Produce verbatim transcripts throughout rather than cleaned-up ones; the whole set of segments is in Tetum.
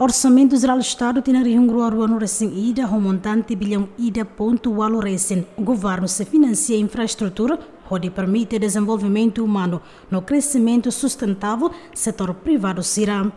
Orsamentu Jerál Estadu tinan rihun rua ruanulu-resin-ida ho montante biliaun ida pontu ualu resin, governu sei finansia infraestrutura hodi permite dezenvolvimentu umanu no kresimentu sustentável setór privadu sira.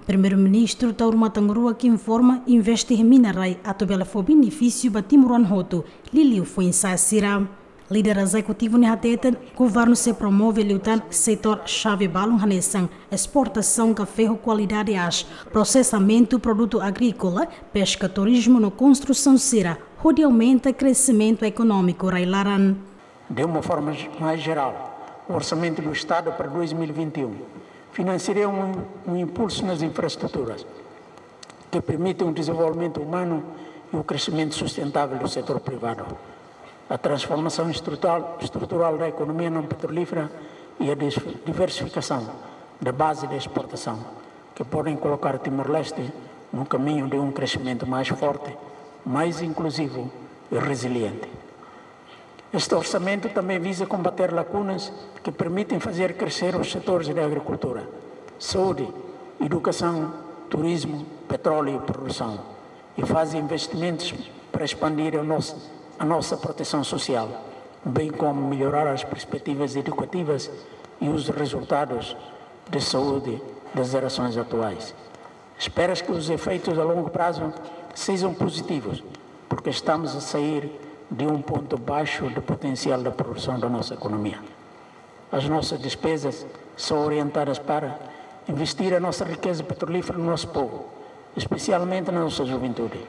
Primeiru-Ministru Taur Matan Ruak informa investe iha mina-rai atu bele fó benefísiu ba timoroan hotu, liuliu foin-sa'e sira. Líder ezekutivu ne'e hateten, governu sei promove liután setór xave balun hanesan esportasaun kafé ho kualidade aas, prosesamentu produtu agríkola, peska, turizmu no konstrusaun sira, hodi aumenta kresimentu ekonómiku rai-laran. De uma forma ge-, mais geral, o Orçamento do Estado para dois mil e vinte e um financiaria um, um impulso nas infraestruturas, que permitem um desenvolvimento humano e o crescimento sustentável do setor privado. A transformação estrutural, estrutural da economia não petrolífera e a dis-, diversificação da base de exportação, que podem colocar Timor-Leste no caminho de um crescimento mais forte, mais inclusivo e resiliente. Este orçamento também visa combater lacunas que permitem fazer crescer os setores da agricultura, saúde, educação, turismo, petróleo e produção, e faz investimentos para expandir a nossa, a nossa proteção social, bem como melhorar as perspectivas educativas e os resultados de saúde das gerações atuais. Espera-se que os efeitos a longo prazo sejam positivos, porque estamos a sair de um ponto baixo de potencial da produção da nossa economia. As nossas despesas são orientadas para investir a nossa riqueza petrolífera no nosso povo, especialmente na nossa juventude.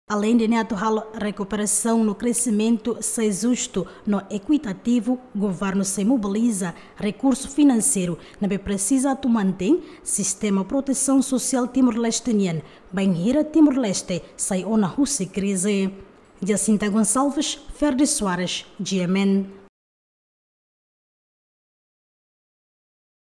Aleinde ne'e, atu halo rekuperasaun no kresimentu sai justu no ekuitativu, governu sei mobiliza rekursu finanseiru ne'ebé presiza atu mantein sistema protesaun sosiál Timor-Leste nian, bainhira Timor-Leste sai ona husi krize. Jacinta Gonçalves, Ferdi Soares, G M N.